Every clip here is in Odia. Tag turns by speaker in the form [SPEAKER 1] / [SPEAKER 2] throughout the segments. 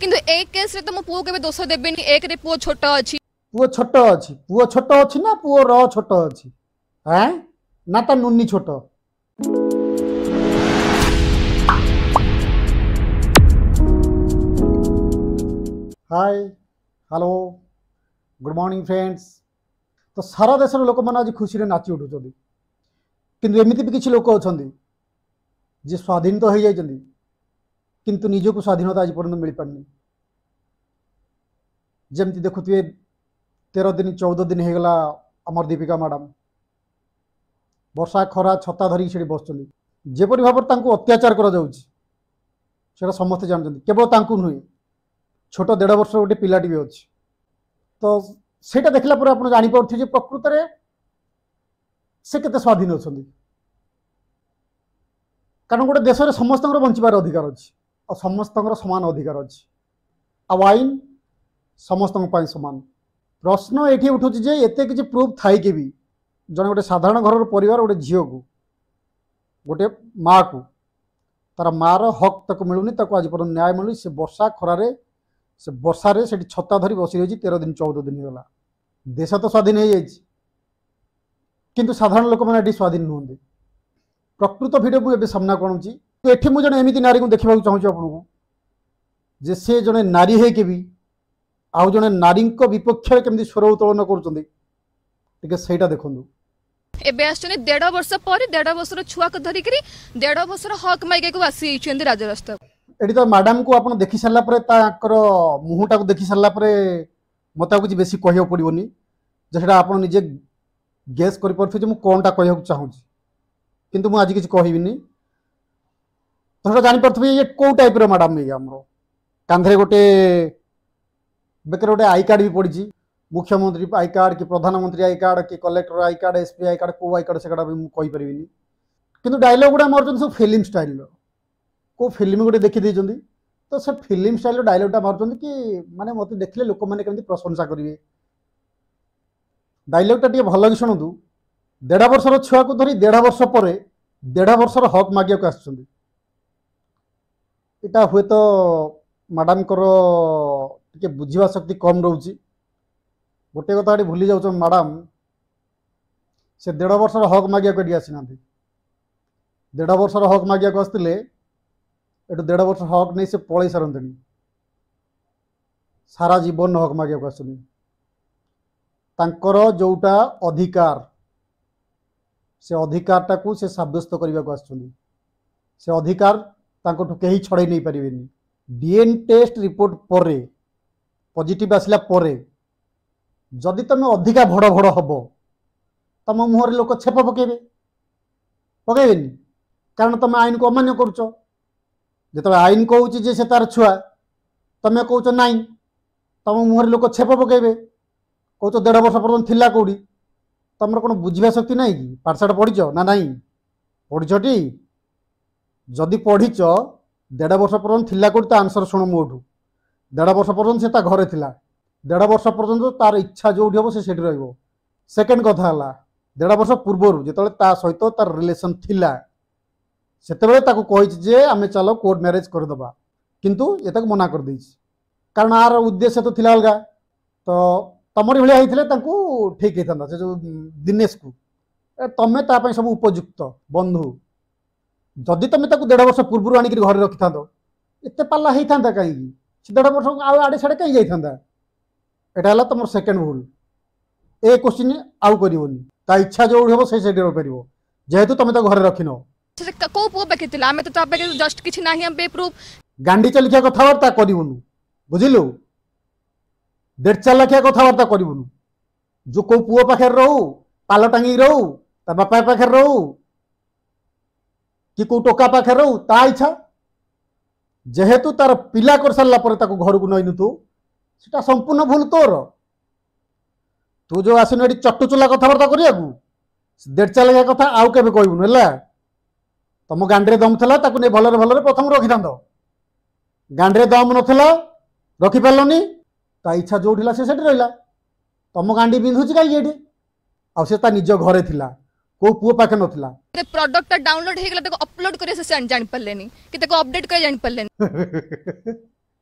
[SPEAKER 1] କିନ୍ତୁ ଏ କେସ୍ରେ ତ ମୁଁ ପୁଅ କେବେ ଦୋଷ ଦେବିନି। ଏକରେ ପୁଅ ଛୋଟ ଅଛି।
[SPEAKER 2] ପୁଅ ଛୋଟ ଅଛି, ପୁଅ ଛୋଟ ଅଛି ନା ପୁଅ ର ଛୋଟ ଅଛି? ଆଁ ନା ତା ନୁନି ଛୋଟ? Hi, hello, good morning friends. ତ ସାରା ଦେଶର ଲୋକମାନେ ଆଜି ଖୁସିରେ ନାଚି ଉଠୁଛନ୍ତି, କିନ୍ତୁ ଏମିତି ବି କିଛି ଲୋକ ଅଛନ୍ତି ଯିଏ ସ୍ୱାଧୀନ ତ ହେଇଯାଇଛନ୍ତି, କିନ୍ତୁ ନିଜକୁ ସ୍ୱାଧୀନତା ଆଜି ପର୍ଯ୍ୟନ୍ତ ମିଳିପାରୁନି। ଯେମିତି ଦେଖୁଥିବେ 13 ଦିନ 14 ଦିନ ହେଇଗଲା ଆମର ଦୀପିକା ମ୍ୟାଡ଼ାମ ବର୍ଷା ଖରା ଛତା ଧରିକି ସେଠି ବସୁଛନ୍ତି। ଯେପରି ଭାବରେ ତାଙ୍କୁ ଅତ୍ୟାଚାର କରାଯାଉଛି ସେଟା ସମସ୍ତେ ଜାଣିଛନ୍ତି। କେବଳ ତାଙ୍କୁ ନୁହେଁ, ଛୋଟ 1.5 ବର୍ଷର ଗୋଟେ ପିଲାଟି ବି ଅଛି। ତ ସେଇଟା ଦେଖିଲା ପରେ ଆପଣ ଜାଣିପାରୁଥିବେ ଯେ ପ୍ରକୃତରେ ସେ କେତେ ସ୍ୱାଧୀନ ଅଛନ୍ତି। କାରଣ ଗୋଟେ ଦେଶରେ ସମସ୍ତଙ୍କର ବଞ୍ଚିବାର ଅଧିକାର ଅଛି, ଆଉ ସମସ୍ତଙ୍କର ସମାନ ଅଧିକାର ଅଛି, ଆଉ ଆଇନ ସମସ୍ତଙ୍କ ପାଇଁ ସମାନ। ପ୍ରଶ୍ନ ଏଇଠି ଉଠୁଛି ଯେ ଏତେ କିଛି ପ୍ରୁଫ୍ ଥାଇକି ବି ଜଣେ ଗୋଟେ ସାଧାରଣ ଘରର ପରିବାର ଗୋଟେ ଝିଅକୁ, ଗୋଟେ ମାଆକୁ, ତାର ମାଆର ହକ୍ ତାକୁ ମିଳୁନି, ତାକୁ ଆଜି ପର୍ଯ୍ୟନ୍ତ ନ୍ୟାୟ ମିଳୁନି। ସେ ବର୍ଷା ଖରାରେ, ସେ ବର୍ଷାରେ ସେଠି ଛତା ଧରି ବସି ରହିଛି 13 ଦିନ 14 ଦିନ ହେଇଗଲା। ଦେଶ ତ ସ୍ୱାଧୀନ ହେଇଯାଇଛି, କିନ୍ତୁ ସାଧାରଣ ଲୋକମାନେ ଏଠି ସ୍ୱାଧୀନ ନୁହନ୍ତି। ପ୍ରକୃତ ଭିଡ଼ିଓ ମୁଁ ଏବେ ସାମ୍ନାକୁ ଆଣୁଛି। ତ ଏଠି ମୁଁ ଜଣେ ଏମିତି ନାରୀକୁ ଦେଖିବାକୁ ଚାହୁଁଛି ଆପଣଙ୍କୁ, ଯେ ସେ ଜଣେ ନାରୀ ହେଇକି ବି ଆଉ ଜଣେ ନାରୀଙ୍କ ବିପକ୍ଷରେ କେମିତି ସ୍ୱର ଉତ୍ତୋଳନ କରୁଛନ୍ତି, ଟିକେ ସେଇଟା ଦେଖନ୍ତୁ।
[SPEAKER 1] ଏବେ ଆସିଛନ୍ତି 1.5 ବର୍ଷ ପରେ, 1.5 ବର୍ଷର ଛୁଆକୁ ଧରିକିରି 1.5 ବର୍ଷର ହକ୍ ମାଗିବାକୁ ଆସିଯାଇଛନ୍ତି ରାଜରାସ୍ତାକୁ।
[SPEAKER 2] ଏଠି ତ ମ୍ୟାଡ଼ାମକୁ ଆପଣ ଦେଖି ସାରିଲା ପରେ, ତାଙ୍କର ମୁହଁଟାକୁ ଦେଖି ସାରିଲା ପରେ ମୋତେ ଆଉ କିଛି ବେଶୀ କହିବାକୁ ପଡ଼ିବନି, ଯେ ସେଇଟା ଆପଣ ନିଜେ ଗେସ୍ କରିପାରୁଥିବେ ଯେ ମୁଁ କ'ଣଟା କହିବାକୁ ଚାହୁଁଛି। କିନ୍ତୁ ମୁଁ ଆଜି କିଛି କହିବିନି। ତ ସେଇଟା ଜାଣିପାରୁଥିବେ ଇଏ କେଉଁ ଟାଇପ୍ର ମ୍ୟାଡ଼ାମ। ଇଏ ଆମର କାନ୍ଧରେ ଗୋଟେ ବେକରେ ଗୋଟେ I card ବି ପଡ଼ିଛି, ମୁଖ୍ୟମନ୍ତ୍ରୀ I card କି ପ୍ରଧାନମନ୍ତ୍ରୀ I card କି collector I card, SP I card, କେଉଁ I card ସେଗୁଡ଼ା ବି ମୁଁ କହିପାରିବିନି। କିନ୍ତୁ ଡାଇଲଗ୍ ଗୁଡ଼ା ମାରୁଛନ୍ତି ସବୁ ଫିଲ୍ମ ଷ୍ଟାଇଲ୍ର, କେଉଁ ଫିଲ୍ମ ଗୋଟେ ଦେଖିଦେଇଛନ୍ତି ତ ସେ ଫିଲ୍ମ ଷ୍ଟାଇଲ୍ର ଡାଇଲଗ୍ଟା ମାରୁଛନ୍ତି କି ମାନେ ମୋତେ ଦେଖିଲେ ଲୋକମାନେ କେମିତି ପ୍ରଶଂସା କରିବେ। ଡାଇଲଗ୍ଟା ଟିକେ ଭଲ କି ଶୁଣନ୍ତୁ। 1.5 ବର୍ଷର ଛୁଆକୁ ଧରି 1.5 ବର୍ଷ ପରେ 1.5 ବର୍ଷର ହକ୍ ମାଗିବାକୁ ଆସିଛନ୍ତି। ଏଇଟା ହୁଏତ ମ୍ୟାଡ଼ାମଙ୍କର ଟିକେ ବୁଝିବା ଶକ୍ତି କମ୍ ରହୁଛି। ଗୋଟେ କଥା ଏଠି ଭୁଲି ଯାଉଛନ୍ତି ମ୍ୟାଡ଼ାମ, ସେ 1.5 ବର୍ଷର ହକ୍ ମାଗିବାକୁ ଏଠି ଆସିନାହାନ୍ତି। 1.5 ବର୍ଷର ହକ୍ ମାଗିବାକୁ ଆସିଥିଲେ ଏଠୁ 1.5 ବର୍ଷ ହକ୍ ନେଇ ସେ ପଳେଇ ସାରନ୍ତେଣି। ସାରା ଜୀବନ ହକ୍ ମାଗିବାକୁ ଆସୁଛନ୍ତି। ତାଙ୍କର ଯେଉଁଟା ଅଧିକାର, ସେ ଅଧିକାରଟାକୁ ସେ ସାବ୍ୟସ୍ତ କରିବାକୁ ଆସୁଛନ୍ତି। ସେ ଅଧିକାର ତାଙ୍କଠୁ କେହି ଛଡ଼େଇ ନେଇପାରିବେନି। ଡିଏନ୍ ଟେଷ୍ଟ ରିପୋର୍ଟ ପରେ ପଜିଟିଭ୍ ଆସିଲା ପରେ ଯଦି ତମେ ଅଧିକା ଭଡ଼ ଭଡ଼ ହବ, ତମ ମୁହଁରେ ଲୋକ ଛେପ ପକେଇବେ, ପକେଇବେନି? କାରଣ ତମେ ଆଇନକୁ ଅମାନ୍ୟ କରୁଛ। ଯେତେବେଳେ ଆଇନ କହୁଛି ଯେ ସେ ତାର ଛୁଆ, ତମେ କହୁଛ ନାଇଁ, ତମ ମୁହଁରେ ଲୋକ ଛେପ ପକେଇବେ। କହୁଛ 1.5 ବର୍ଷ ପର୍ଯ୍ୟନ୍ତ ଥିଲା କେଉଁଠି? ତମର କ'ଣ ବୁଝିବା ଶକ୍ତି ନାହିଁ କି? ପାଠଶାଠ ପଢ଼ିଛ ନା ନାହିଁ? ପଢ଼ିଛଟି? ଯଦି ପଢ଼ିଛ, 1.5 ବର୍ଷ ପର୍ଯ୍ୟନ୍ତ ଥିଲା କେଉଁଠି ତା ଆନ୍ସର ଶୁଣ ମୋଠୁ। 1.5 ବର୍ଷ ପର୍ଯ୍ୟନ୍ତ ସେ ତା ଘରେ ଥିଲା। 1.5 ବର୍ଷ ପର୍ଯ୍ୟନ୍ତ ତାର ଇଚ୍ଛା ଯେଉଁଠି ହେବ ସେ ସେଠି ରହିବ। ସେକେଣ୍ଡ କଥା ହେଲା, 1.5 ବର୍ଷ ପୂର୍ବରୁ ଯେତେବେଳେ ତା ସହିତ ତାର ରିଲେସନ୍ ଥିଲା, ସେତେବେଳେ ତାକୁ କହିଛି ଯେ ଆମେ ଚାଲ କୋର୍ଟ ମ୍ୟାରେଜ୍ କରିଦେବା, କିନ୍ତୁ ଏ ତାକୁ ମନା କରିଦେଇଛି। କାରଣ ଆର ଉଦ୍ଦେଶ୍ୟ ତ ଥିଲା ଅଲଗା। ତ ତମରି ଭଳିଆ ହେଇଥିଲେ ତାଙ୍କୁ ଠିକ୍ ହେଇଥାନ୍ତା। ସେ ଯେଉଁ ଦିନେଶକୁ, ତମେ ତା ପାଇଁ ସବୁ ଉପଯୁକ୍ତ ବନ୍ଧୁ। ଯଦି ତମେ ତାକୁ 1.5 ବର୍ଷ ପୂର୍ବରୁ ଆଣିକିରି ଘରେ ରଖିଥାନ୍ତ, ଏତେ ପାଲା ହେଇଥାନ୍ତା କାହିଁକି? ସେ 1.5 ବର୍ଷ ଆଉ ଆଡ଼େ ସାଡ଼େ କାହିଁ ଯାଇଥାନ୍ତା? ଏଇଟା ହେଲା ତମର ସେକେଣ୍ଡ ଭୁଲ। ଏ କୋଶ୍ଚିନ୍ ଆଉ କରିବନି। ତା ଇଚ୍ଛା ଯେଉଁଠି ହେବ ସେ ସେଇଠି ରହିପାରିବ, ଯେହେତୁ ତମେ ତାକୁ ଘରେ ରଖିନ।
[SPEAKER 1] ସେ କୋଉ ପୁଅ ପାଖେ ଥିଲା? ଆମେ ତ ତା ପାଖେ ଜଷ୍ଟ କିଛି ନାହିଁ ଆମ ପ୍ରୁଫ୍।
[SPEAKER 2] ଗାଣ୍ଡି ଚାଲିଖିଆ କଥାବାର୍ତ୍ତା କରିବୁନୁ, ବୁଝିଲୁ? ଦେଢ଼ ଚାରି ଲଖିଆ କଥାବାର୍ତ୍ତା କରିବୁନୁ। ଯୋଉ କୋଉ ପୁଅ ପାଖରେ ରହୁ, ପାଲ ଟାଙ୍ଗିକି ରହୁ, ତା ବାପା ପାଖରେ ରହୁ କି କୋଉ ଟୋକା ପାଖରେ ରହୁ, ତା ଇଚ୍ଛା। ଯେହେତୁ ତାର ପିଲା କରିସାରିଲା ପରେ ତାକୁ ଘରକୁ ନେଇନୁ ତୁ, ସେଟା ସମ୍ପୂର୍ଣ୍ଣ ଭୁଲ ତୋର। ତୁ ଯୋଉ ଆସିନୁ ଏଠି ଚଟୁଚୁଲା କଥାବାର୍ତ୍ତା କରିବାକୁ, ଦେଢ଼ ଚାରି ଲଖିଆ କଥା ଆଉ କେବେ କହିବୁନୁ, ହେଲା? ତମ ଗାଣ୍ଡିରେ ଦମ ଥିଲା ତାକୁ ନେଇ ଭଲରେ ଭଲରେ ପ୍ରଥମ ରଖିଥାନ୍ତ। ଗାଣ୍ଡିରେ ଦମ ନଥିଲା, ରଖିପାରିଲନି। ତା ଇଚ୍ଛା ଯୋଉଠି ହେଲା ସେ ସେଠି ରହିଲା। ତମ ଗାଣ୍ଡି ବିନ୍ଧୁଛି କାହିଁକି ଏଠି? ଆଉ ସେ ତା ନିଜ ଘରେ ଥିଲା, କୋଉ ପୁଅ ପାଖେ ନଥିଲା।
[SPEAKER 1] ପ୍ରଡକ୍ଟଟା ଡାଉନଲୋଡ୍ ହେଇଗଲା, ତାକୁ ଅପଲୋଡ୍ କରିବା ସେ ଜାଣିପାରିଲେନି କି ତାକୁ ଅପଡେଟ୍ କରିବା ଜାଣିପାରିଲେନି।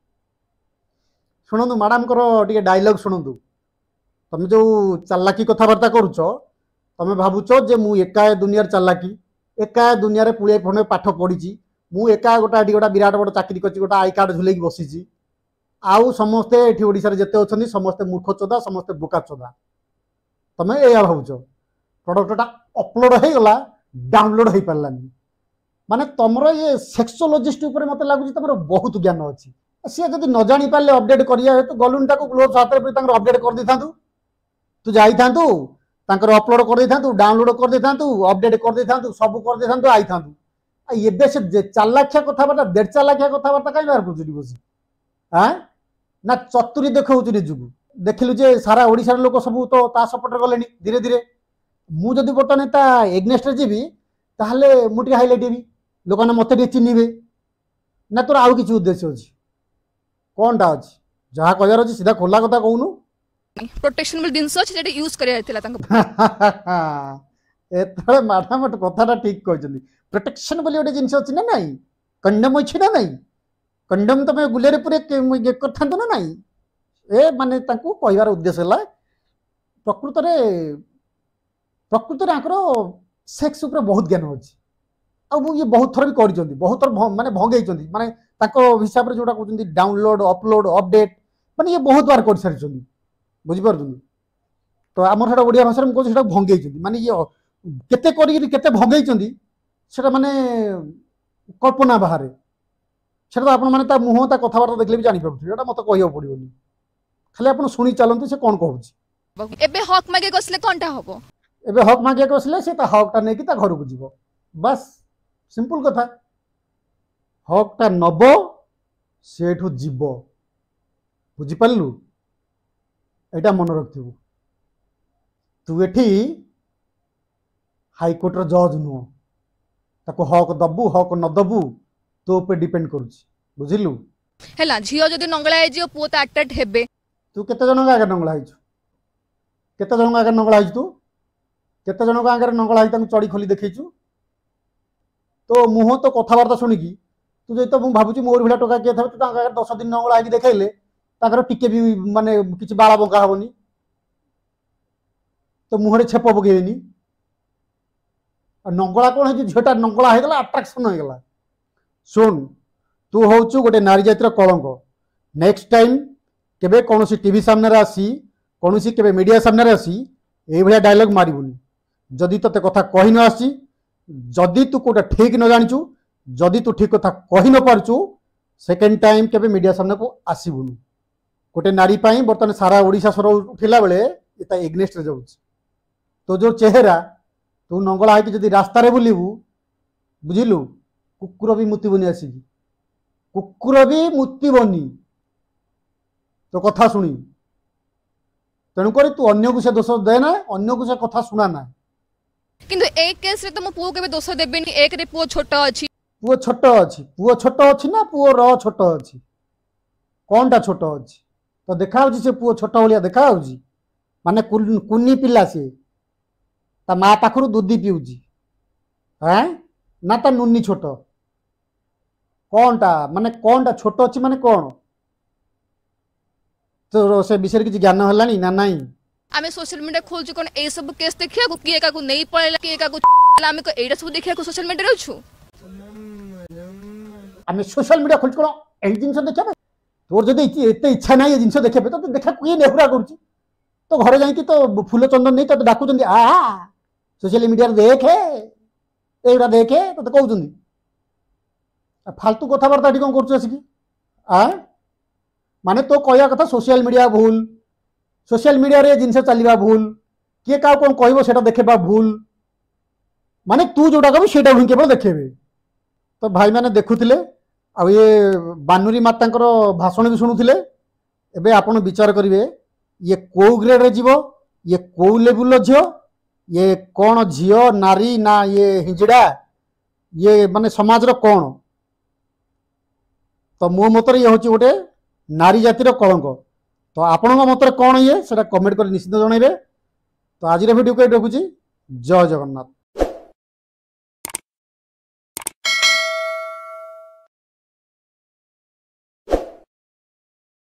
[SPEAKER 2] ଶୁଣନ୍ତୁ, ମ୍ୟାଡ଼ାମଙ୍କର ଟିକେ ଡାଇଲଗ ଶୁଣନ୍ତୁ। ତମେ ଯୋଉ ଚାଲାକି କଥାବାର୍ତ୍ତା କରୁଛ, ତମେ ଭାବୁଛ ଯେ ମୁଁ ଏକା ଏ ଦୁନିଆରେ ଚାଲାକି, ଏକା ଏ ଦୁନିଆରେ ପୁଳିଏ ଖଣ୍ଡେ ପାଠ ପଢ଼ିଛି, ମୁଁ ଏକା ଗୋଟା ଏଠି ଗୋଟା ବିରାଟ ବଡ଼ ଚାକିରି କରିଛି, ଗୋଟା I card ଝୁଲେଇକି ବସିଛି, ଆଉ ସମସ୍ତେ ଏଠି ଓଡ଼ିଶାରେ ଯେତେ ଅଛନ୍ତି ସମସ୍ତେ ମୂର୍ଖ ଚୋଦା, ସମସ୍ତେ ବୋକା ଚୋଦା। ତମେ ଏଇଆ ଭାବୁଛ। ପ୍ରଡକ୍ଟଟା ଅପଲୋଡ଼ ହେଇଗଲା, ଡାଉନଲୋଡ଼ ହେଇପାରିଲାନି। ମାନେ ତମର ଇଏ ସେକ୍ସୋଲୋଜିଷ୍ଟ ଉପରେ ମତେ ଲାଗୁଛି ତମର ବହୁତ ଜ୍ଞାନ ଅଛି। ସିଏ ଯଦି ନ ଜାଣିପାରିଲେ ଅପଡେଟ୍ କରିବା ହେତୁ ଗଲୁନି, ତାକୁ ଗ୍ଲୋଭ୍ସ ହାତରେ ପୁରେଇ ତାଙ୍କର ଅପଡେଟ୍ କରିଦେଇଥାନ୍ତୁ। ତୁ ଯାଇଥାନ୍ତୁ, ତାଙ୍କର ଅପଲୋଡ଼ କରିଦେଇଥାନ୍ତୁ, ଡାଉନଲୋଡ଼ କରିଦେଇଥାନ୍ତୁ, ଅପଡେଟ୍ କରିଦେଇଥାନ୍ତୁ, ସବୁ କରିଦେଇଥାନ୍ତୁ, ଆଇଥାନ୍ତୁ। ଆଉ ଏବେ ସେ ଚାଲାଖିଆ କଥାବାର୍ତ୍ତା, ଦେଢ଼ ଚାଲାଖିଆ କଥାବାର୍ତ୍ତା କାହିଁ ବାହାର କରୁଛୁ ବସି? ଆଁ ନା ଚତୁରୀ ଦେଖାଉଛୁ ନିଜକୁ? ଦେଖିଲୁ ଯେ ସାରା ଓଡ଼ିଶାର ଲୋକ ସବୁ ତ ତା ସପୋର୍ଟରେ ଗଲେଣି ଧୀରେ ଧୀରେ। ମୁଁ ଯଦି ବର୍ତ୍ତମାନ ତା ଏଗନେଷ୍ଟରେ ଯିବି, ତାହେଲେ ମୁଁ ଟିକେ ହାଇଲାଇଟ୍ ହେବି, ଲୋକମାନେ ମୋତେ ଟିକେ ଚିହ୍ନିବେ। ନା ତୋର ଆଉ କିଛି ଉଦ୍ଦେଶ୍ୟ ଅଛି? କ'ଣଟା ଅଛି? ଯାହା କହିବାର ଅଛି ସିଧା ଖୋଲା କଥା କହୁନୁ।
[SPEAKER 1] ପ୍ରୋଟେକ୍ସନ ବୋଲି ଜିନିଷ ଅଛି, ସେଟା ୟୁଜ କରିବାର ଥିଲା ତାଙ୍କ।
[SPEAKER 2] ଏଥର ମ୍ୟାଡ଼ାମ କଥାଟା ଠିକ କହିଛନ୍ତି। ପ୍ରୋଟେକ୍ସନ ବୋଲି ଗୋଟେ ଜିନିଷ ଅଛି ନା ନାଇଁ? କଣ୍ଡମ ଅଛି ନା ନାଇଁ? କଣ୍ଡମ ତମେ ଗୁଲେରେ ପୁରେ ଇଏ କରିଥାନ୍ତ ନା ନାଇଁ? ଏ ମାନେ ତାଙ୍କୁ କହିବାର ଉଦ୍ଦେଶ୍ୟ ହେଲା, ପ୍ରକୃତରେ ଆଙ୍କର ସେକ୍ସ ଉପରେ ବହୁତ ଜ୍ଞାନ ଅଛି। ଆଉ ମୁଁ ଇଏ ବହୁତ ଥର ବି କରିଛନ୍ତି, ବହୁତ ଥର ମାନେ ଭଙ୍ଗେଇଛନ୍ତି, ମାନେ ତାଙ୍କ ହିସାବରେ ଯୋଉଟା କହୁଛନ୍ତି ଡାଉନଲୋଡ, ଅପଲୋଡ, ଅପଡେଟ୍, ମାନେ ଇଏ ବହୁତ ବାର କରିସାରିଛନ୍ତି, ବୁଝିପାରୁଛନ୍ତି ତ? ଆମର ସେଟା ଓଡ଼ିଆ ଭାଷାରେ ମୁଁ କହୁଛି, ସେଟା ଭଙ୍ଗେଇଛନ୍ତି। ମାନେ ଇଏ କେତେ କରିକିରି କେତେ ଭଙ୍ଗେଇଛନ୍ତି ସେଟା ମାନେ କଳ୍ପନା ବାହାରେ। ସେଟା ତ ଆପଣମାନେ ତା ମୁହଁ, ତା କଥାବାର୍ତ୍ତା ଦେଖିଲେ ବି ଜାଣିପାରୁଥିବେ। ଏଟା ମତେ କହିବାକୁ ପଡ଼ିବନି, ଖାଲି ଆପଣ ଶୁଣି ଚାଲନ୍ତୁ ସେ କ'ଣ କହୁଛି।
[SPEAKER 1] ଏବେ ହକ୍ ମାଗିବାକୁ ଆସିଲେ କଣଟା ହବ?
[SPEAKER 2] ଏବେ ହକ୍ ମାଗିବାକୁ ଆସିଲେ ସେ ତା ହକ୍ଟା ନେଇକି ତା ଘରକୁ ଯିବ, ବାସ୍, ସିମ୍ପଲ କଥା। ହକ୍ଟା ନବ, ସେଠୁ ଯିବ, ବୁଝିପାରିଲୁ? ଏଇଟା ମନେ ରଖିଥିବୁ। ତୁ ଏଠି ହାଇକୋର୍ଟର ଜଜ୍ ନୁହଁ। ତାକୁ ହକ୍ ଦବୁ, ହକ୍ ନ ଦବୁ, ତୋ ଉପରେ ଡିପେଣ୍ଡ କରୁଛି, ବୁଝିଲୁ?
[SPEAKER 1] ହେଲା, ଝିଅ ଯଦି ନଙ୍ଗଳା ହେଇଯିବ, ପୁଅ ତ ଆଟ୍ରାକ୍ଟ ହେବେ।
[SPEAKER 2] ତୁ କେତେ ଜଣଙ୍କ ଆଗରେ ନଙ୍ଗଳା ହେଇଛୁ? କେତେ ଜଣଙ୍କ ଆଗରେ ନଙ୍ଗଳା ହେଇଛୁ ତୁ? କେତେ ଜଣଙ୍କ ଆଗରେ ନଙ୍ଗଳା ହେଇ ତାଙ୍କୁ ଚଡ଼ି ଖୋଲି ଦେଖେଇଛୁ? ତୋ ମୁହଁ, ତୋ କଥାବାର୍ତ୍ତା ଶୁଣିକି ତୁ ଯଦି ତ ମୁଁ ଭାବୁଛି ମୋର ଭଳିଆ ଟୋକା କିଏ ଥିବ, ତୁ ତାଙ୍କ ଆଗରେ 10 ଦିନ ନଙ୍ଗଳା ହେଇକି ଦେଖେଇଲେ ତାଙ୍କର ଟିକେ ବି ମାନେ କିଛି ବାଳ ବଙ୍କା ହବନି, ତୋ ମୁହଁରେ ଛେପ ପକେଇବେନି। ଆଉ ନଙ୍ଗଳା କ'ଣ ହେଇଛି? ଝିଅଟା ନଙ୍ଗଳା ହେଇଗଲା, ଆଟ୍ରାକ୍ସନ ହେଇଗଲା। ଶୁଣ, ତୁ ହଉଛୁ ଗୋଟେ ନାରୀ ଜାତିର କଳଙ୍କ। ନେକ୍ସଟ ଟାଇମ୍ କେବେ କୌଣସି ଟିଭି ସାମ୍ନାରେ ଆସି, କୌଣସି କେବେ ମିଡ଼ିଆ ସାମ୍ନାରେ ଆସି ଏଇଭଳିଆ ଡାଇଲଗ ମାରିବୁନି। ଯଦି ତୋତେ କଥା କହି ନ ଆସିଛି, ଯଦି ତୁ କୋଉଟା ଠିକ ନ ଜାଣିଛୁ, ଯଦି ତୁ ଠିକ କଥା କହି ନ ପାରୁଛୁ, ସେକେଣ୍ଡ ଟାଇମ୍ କେବେ ମିଡ଼ିଆ ସାମ୍ନାକୁ ଆସିବୁନି। ଗୋଟେ ନାରୀ ପାଇଁ ବର୍ତ୍ତମାନ ସାରା ଓଡ଼ିଶା ସ୍ୱର ଉଠିଲା ବେଳେ ଏ ତା ଏଗନେଷ୍ଟରେ ଯାଉଛି। ତୋ ଯୋଉ ଚେହେରା, ତୁ ନଙ୍ଗଳା ହେଇକି ଯଦି ରାସ୍ତାରେ ବୁଲିବୁ, ବୁଝିଲୁ, କୁକୁର ବି ମୁତିବନି ଆସିକି, କୁକୁର ବି ମୁତିବନି ତୋ କଥା ଶୁଣି। ତେଣୁକରି ତୁ ଅନ୍ୟକୁ ସେ ଦୋଷ ଦେ ନା, ଅନ୍ୟକୁ ସେ କଥା ଶୁଣା ନା।
[SPEAKER 1] କିନ୍ତୁ ଏଇ କେସରେ ତ ମୋ ପୁଅ କେବେ ଦୋଷ ଦେବେନି। ଏକରେ ପୁଅ ଛୋଟ ଅଛି।
[SPEAKER 2] ପୁଅ ଛୋଟ ଅଛି? ପୁଅ ଛୋଟ ଅଛି ନା ପୁଅ ର ଛୋଟ ଅଛି? କଣଟା ଛୋଟ ଅଛି? ତ ଦେଖାହଉଛି ସେ ପୁଅ ଛୋଟ ଭଳିଆ ଦେଖାହଉଛି? ମାନେ କୁନି ପିଲା ସିଏ, ତା ମା ପାଖରୁ ଦୁଧି ପିଉଛି, ଆଁ ନା ତା ନୁନି ଛୋଟ? କଣଟା, ମାନେ କଣଟା ଛୋଟ ଅଛି, ମାନେ କଣ ତୋର ସେ ବିଷୟରେ କିଛି ଜ୍ଞାନ ହେଲାଣି ନା ନାଇଁ?
[SPEAKER 1] ଆମେ ସୋସିଆଲ ମିଡିଆ ଖୋଲୁଛୁ କଣ ଏଇ ସବୁ କେସ୍ ଦେଖିବାକୁ? କିଏ କାହାକୁ ନେଇ ପଳେଇଲା, କିଏ କାହାକୁ ହେଲା, ଆମେ କଣ ଏଇଟା ସବୁ ଦେଖିବାକୁ ସୋସିଆଲ ମିଡିଆରେ ଅଛୁ?
[SPEAKER 2] ଆମେ ସୋସିଆଲ ମିଡିଆ ଖୋଲୁଛୁ କଣ ଏଇ ଜିନିଷ ଦେଖିବା ପାଇଁ? ତୋର ଯଦି ଏତେ ଇଚ୍ଛା ନାହିଁ ଏ ଜିନିଷ ଦେଖିବା ପାଇଁ, ତତେ ଦେଖା କିଏ ନେହୁରା କରୁଛି? ତୋ ଘରେ ଯାଇକି ତ ଫୁଲ ଚନ୍ଦନ ନେଇ ତତେ ଡାକୁଛନ୍ତି, ଆ ସୋସିଆଲ ମିଡିଆରେ ଦେଖେ, ଏଇଗୁଡ଼ା ଦେଖେ, ତତେ କହୁଛନ୍ତି? ଆଉ ଫାଲତୁ କଥାବାର୍ତ୍ତା ଏଠି କଣ କରୁଛୁ ଆସିକି? ଆ ମାନେ ତୋ କହିବା କଥା ସୋସିଆଲ ମିଡିଆ ଭୁଲ, ସୋସିଆଲ ମିଡିଆରେ ଏ ଜିନିଷ ଚାଲିବା ଭୁଲ, କିଏ କାହାକୁ କଣ କହିବ ସେଟା ଦେଖେଇବା ଭୁଲ। ମାନେ ତୁ ଯୋଉଟା କହିବୁ ସେଇଟା ହିଁ କେବଳ ଦେଖେଇବେ। ତ ଭାଇମାନେ ଦେଖୁଥିଲେ ଆଉ ଇଏ ବାନୁରୀ ମାତାଙ୍କର ଭାଷଣ ବି ଶୁଣୁଥିଲେ। ଏବେ ଆପଣ ବିଚାର କରିବେ, ଇଏ କୋଉ ଗ୍ରେଡରେ ଯିବ, ଇଏ କୋଉ ଲେବୁଲର ଝିଅ, ଇଏ କ'ଣ ଝିଅ, ନାରୀ ନା ଇଏ ହିଞ୍ଜିଡ଼ା? ଇଏ ମାନେ ସମାଜର କ'ଣ? ତ ମୋ ମତରେ ଇଏ ହେଉଛି ଗୋଟେ ନାରୀ ଜାତିର କଳଙ୍କ। ତ ଆପଣଙ୍କ ମତରେ କ'ଣ ଇଏ, ସେଟା କମେଣ୍ଟ କରି ନିଶ୍ଚିତ ଜଣାଇବେ। ତ ଆଜିର ଭିଡ଼ିଓକୁ ଏଇଠି ରଖୁଛି। ଜୟ ଜଗନ୍ନାଥ।